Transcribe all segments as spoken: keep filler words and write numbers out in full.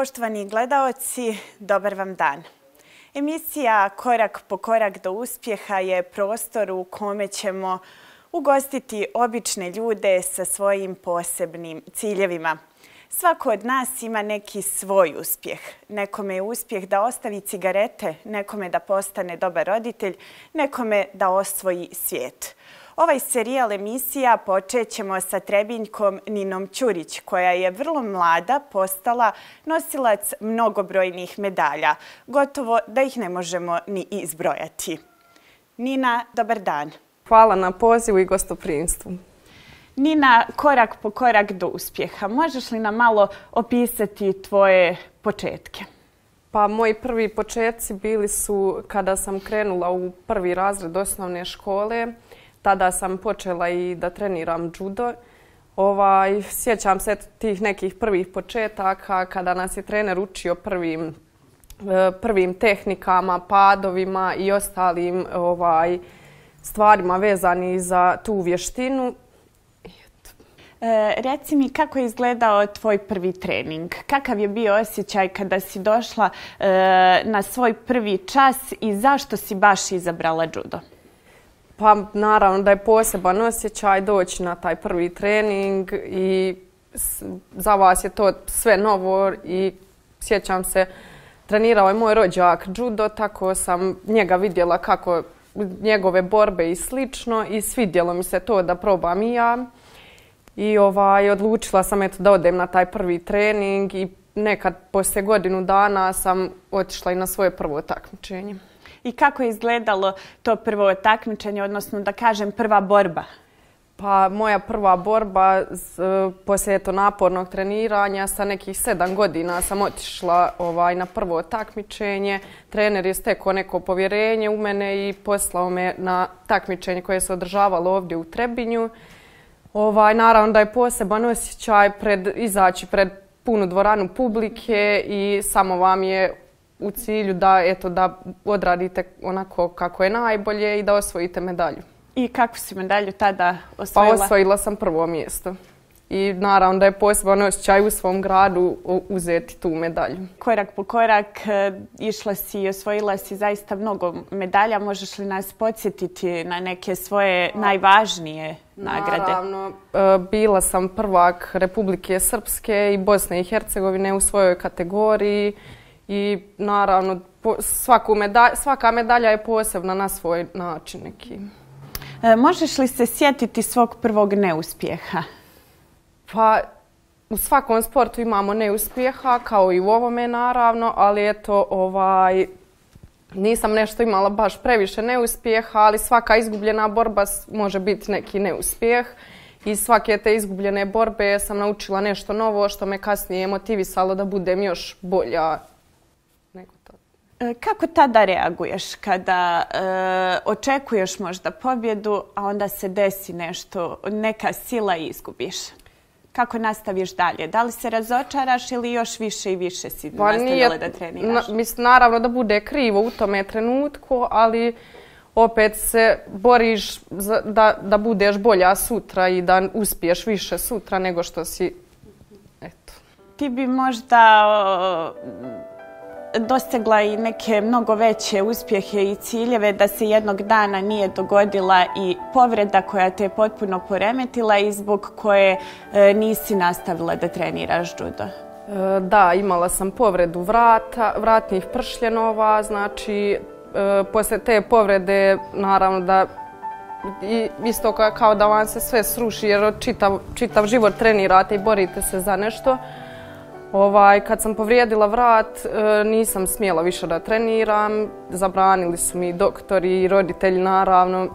Poštovani gledaoci, dobar vam dan. Emisija Korak po korak do uspjeha je prostor u kome ćemo ugostiti obične ljude sa svojim posebnim ciljevima. Svako od nas ima neki svoj uspjeh. Nekome je uspjeh da ostavi cigarete, nekome da postane dobar roditelj, nekome da osvoji svijet. Ovaj serijal emisija počet ćemo sa Trebinjkom Ninom Ćurić, koja je vrlo mlada postala nosilac mnogobrojnih medalja. Gotovo da ih ne možemo ni izbrojati. Nina, dobar dan. Hvala na pozivu i gostoprimstvu. Nina, korak po korak do uspjeha. Možeš li nam malo opisati tvoje početke? Pa moji prvi početci bili su kada sam krenula u prvi razred osnovne škole. Tada sam počela i da treniram judo. Ovaj, sjećam se tih nekih prvih početaka kada nas je trener učio prvim, prvim tehnikama, padovima i ostalim ovaj, stvarima vezani za tu vještinu. E, reci mi kako je izgledao tvoj prvi trening? Kakav je bio osjećaj kada si došla e, na svoj prvi čas i zašto si baš izabrala judo? Pa naravno da je poseban osjećaj doći na taj prvi trening i za vas je to sve novo i sjećam se, trenirao je moj rođak judo, tako sam njega vidjela kako njegove borbe i slično i svidjelo mi se to da probam i ja. I ovaj, odlučila sam eto, da odem na taj prvi trening i nekad poslije godinu dana sam otišla i na svoje prvo takmičenje. I kako je izgledalo to prvo takmičenje, odnosno da kažem prva borba? Pa moja prva borba poslije eto, napornog treniranja sa nekih sedam godina sam otišla ovaj, na prvo takmičenje. Trener je stekao neko povjerenje u mene i poslao me na takmičenje koje se održavalo ovdje u Trebinju. Ovaj, naravno da je poseban osjećaj pred, izaći pred punu dvoranu publike i samo vam je u cilju da, eto, da odradite onako kako je najbolje i da osvojite medalju. I kakvu si medalju tada osvojila? Pa osvojila sam prvo mjesto. I naravno da je poseban osjećaj u svom gradu uzeti tu medalju. Korak po korak išla si i osvojila si zaista mnogo medalja. Možeš li nas podsjetiti na neke svoje najvažnije nagrade? Naravno, bila sam prvak Republike Srpske i Bosne i Hercegovine u svojoj kategoriji. I naravno svaku medalj, svaka medalja je posebna na svoj način neki. E, možeš li se sjetiti svog prvog neuspjeha? Pa u svakom sportu imamo neuspjeha, kao i u ovome naravno, ali eto ovaj, nisam nešto imala baš previše neuspjeha, ali svaka izgubljena borba može biti neki neuspjeh. Iz svake te izgubljene borbe sam naučila nešto novo što me kasnije motivisalo da budem još bolja. Kako tada reaguješ kada e, očekuješ možda pobjedu, a onda se desi nešto, neka sila i izgubiš? Kako nastaviš dalje? Da li se razočaraš ili još više i više si pa nastavila da treniraš? Na, mislim, naravno da bude krivo u tome trenutku, ali opet se boriš za, da, da budeš bolja sutra i da uspiješ više sutra nego što si... Eto. Ti bi možda... O, dostigla i neke mnogo veće uspjehe i ciljeve da se jednog dana nije dogodila i povreda koja te je potpuno poremetila i zbog koje e, nisi nastavila da treniraš judo. E, da, imala sam povredu vrata, vratnih pršljenova, znači e, poslije te povrede naravno da i, isto kao da vam se sve sruši jer čitav, čitav život trenirate i borite se za nešto. Ovaj, kad sam povrijedila vrat, nisam smjela više da treniram, zabranili su mi doktori i roditelji naravno,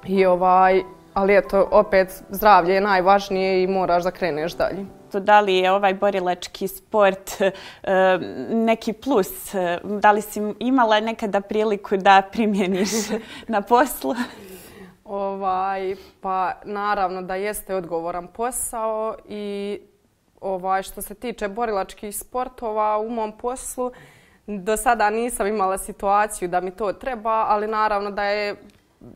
I ovaj, ali eto, opet zdravlje je najvažnije i moraš da kreneš dalje. Da li je ovaj borilački sport neki plus? Da li si imala nekada priliku da primjeniš na poslu? Ovaj, pa naravno da jeste odgovoran posao i ovaj, što se tiče borilačkih sportova u mom poslu, do sada nisam imala situaciju da mi to treba, ali naravno da je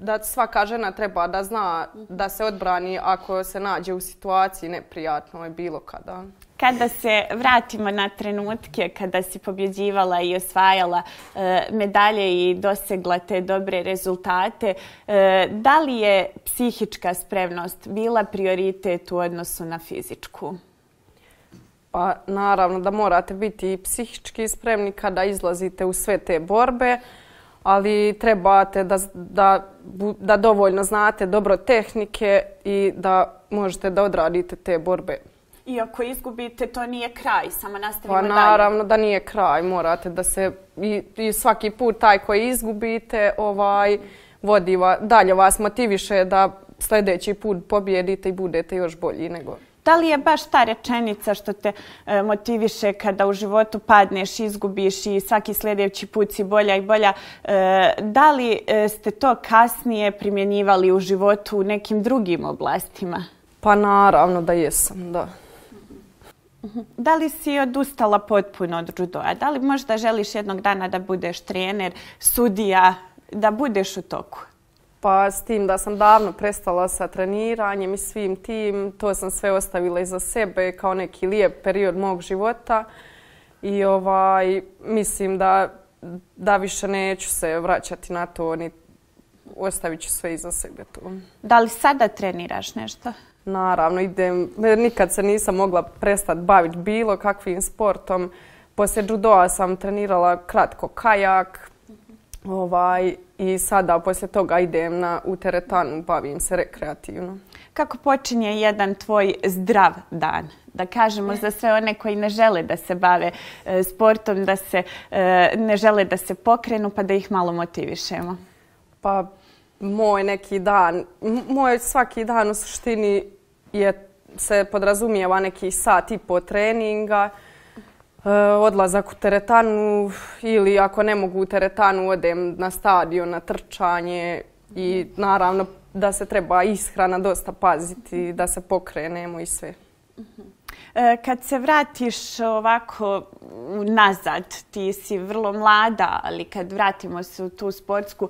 da svaka žena treba da zna da se odbrani ako se nađe u situaciji neprijatnoj bilo kada. Kada se vratimo na trenutke kada si pobjeđivala i osvajala e, medalje i dosegla te dobre rezultate, e, da li je psihička spremnost bila prioritet u odnosu na fizičku? Pa naravno da morate biti i psihički spremni kada izlazite u sve te borbe, ali trebate da, da, da dovoljno znate dobro tehnike i da možete da odradite te borbe. I ako izgubite, to nije kraj, samo nastavimo dalje. Pa naravno da nije kraj, morate da se i, i svaki put taj koji izgubite ovaj, vodi va, dalje vas motiviše da sljedeći put pobjedite i budete još bolji nego... Da li je baš ta rečenica što te e, motiviše kada u životu padneš, izgubiš i svaki sljedeći put si bolja i bolja? E, da li e, ste to kasnije primjenjivali u životu u nekim drugim oblastima? Pa naravno da jesam, da. Da li si odustala potpuno od judoa? Da li možda želiš jednog dana da budeš trener, sudija, da budeš u toku? Pa s tim da sam davno prestala sa treniranjem i svim tim, to sam sve ostavila iza sebe kao neki lijep period mog života i ovaj, mislim da, da više neću se vraćati na to, ni ostavit ću sve iza sebe tu. Da li sada treniraš nešto? Naravno, idem, nikad se nisam mogla prestati baviti bilo kakvim sportom. Poslije judoa sam trenirala kratko kajak, ovaj, i sada poslije toga idem na, u teretanu, bavim se rekreativno. Kako počinje jedan tvoj zdrav dan? Da kažemo za sve one koji ne žele da se bave e, sportom, da se e, ne žele da se pokrenu, pa da ih malo motivišemo. Pa moj neki dan, moj svaki dan u suštini je, se podrazumijeva neki sat i po treninga, odlazak u teretanu ili ako ne mogu u teretanu odem na stadion, na trčanje i naravno da se treba ishrana dosta paziti, da se pokrenemo i sve. Kad se vratiš ovako nazad, ti si vrlo mlada, ali kad vratimo se u tu sportsku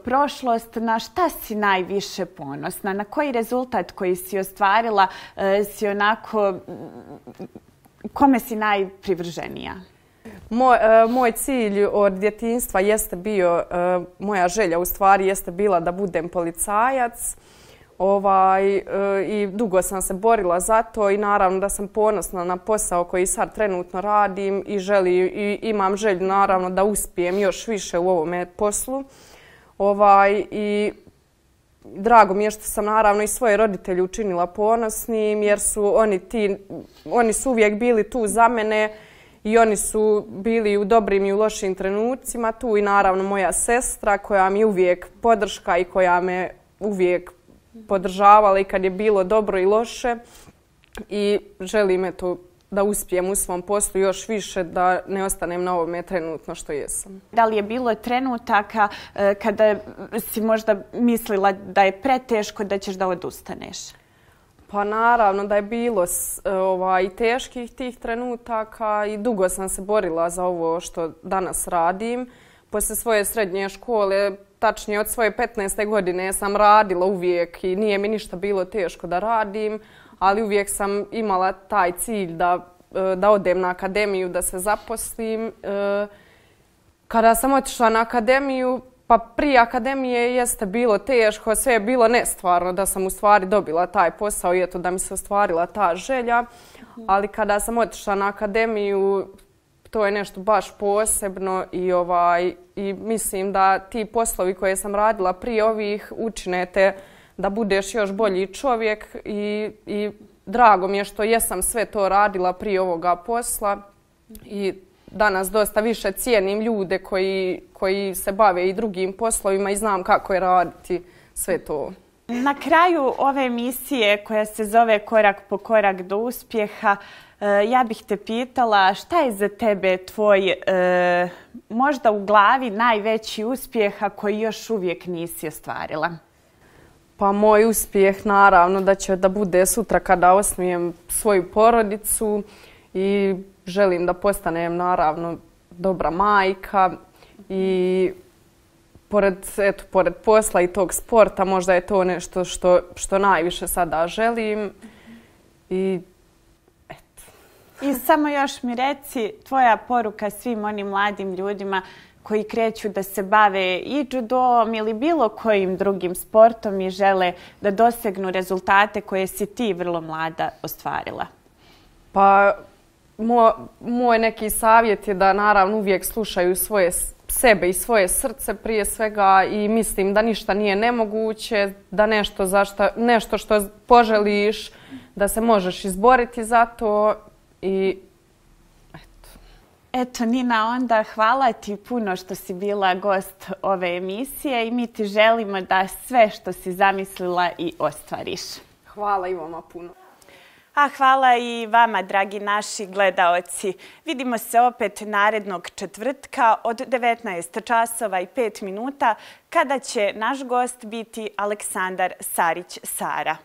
prošlost, na šta si najviše ponosna? Na koji rezultat koji si ostvarila si onako... Kome si najprivrženija? Moj, uh, moj cilj od djetinjstva jeste bio, uh, moja želja u stvari jeste bila da budem policajac. Ovaj, uh, I dugo sam se borila za to i naravno da sam ponosna na posao koji sad trenutno radim i, želi, i imam želju naravno da uspijem još više u ovome poslu. Ovaj, i drago mi je što sam naravno i svoje roditelje učinila ponosnim jer su oni, ti, oni su uvijek bili tu za mene i oni su bili u dobrim i u lošim trenucima tu i naravno moja sestra koja mi je uvijek podrška i koja me uvijek podržavala i kad je bilo dobro i loše i želim eto da uspijem u svom poslu još više, da ne ostanem na ovome trenutno što jesam. Da li je bilo trenutaka kada si možda mislila da je preteško da ćeš da odustaneš? Pa naravno da je bilo ovaj, teških tih trenutaka i dugo sam se borila za ovo što danas radim. Poslije svoje srednje škole, tačnije od svoje petnaeste godine sam radila uvijek i nije mi ništa bilo teško da radim. Ali uvijek sam imala taj cilj da, da odem na akademiju, da se zaposlim. Kada sam otišla na akademiju, pa prije akademije jeste bilo teško, sve je bilo nestvarno da sam u stvari dobila taj posao i eto da mi se ostvarila ta želja. Ali kada sam otišla na akademiju, to je nešto baš posebno i, ovaj, i mislim da ti poslovi koje sam radila prije ovih učine te da budeš još bolji čovjek i, i drago mi je što jesam sve to radila prije ovoga posla i danas dosta više cijenim ljude koji, koji se bave i drugim poslovima i znam kako je raditi sve to. Na kraju ove emisije koja se zove Korak po korak do uspjeha, ja bih te pitala šta je za tebe tvoj e, možda u glavi najveći uspjeh a koji još uvijek nisi ostvarila? Pa moj uspjeh naravno da će da bude sutra kada osnujem svoju porodicu i želim da postanem naravno dobra majka i pored, eto, pored posla i tog sporta, možda je to nešto što, što najviše sada želim. I eto. I samo još mi reci tvoja poruka svim onim mladim ljudima koji kreću da se bave i judom ili bilo kojim drugim sportom i žele da dosegnu rezultate koje si ti vrlo mlada ostvarila. Pa moj, moj neki savjet je da naravno uvijek slušaju svoje sebe i svoje srce prije svega i mislim da ništa nije nemoguće, da nešto, za šta, nešto što poželiš, da se možeš izboriti za to i eto. Eto Nina, onda hvala ti puno što si bila gost ove emisije i mi ti želimo da sve što si zamislila i ostvariš. Hvala i vama puno. A hvala i vama, dragi naši gledaoci. Vidimo se opet narednog četvrtka od devetnaest časova i pet minuta kada će naš gost biti Aleksandar Sarić Sara.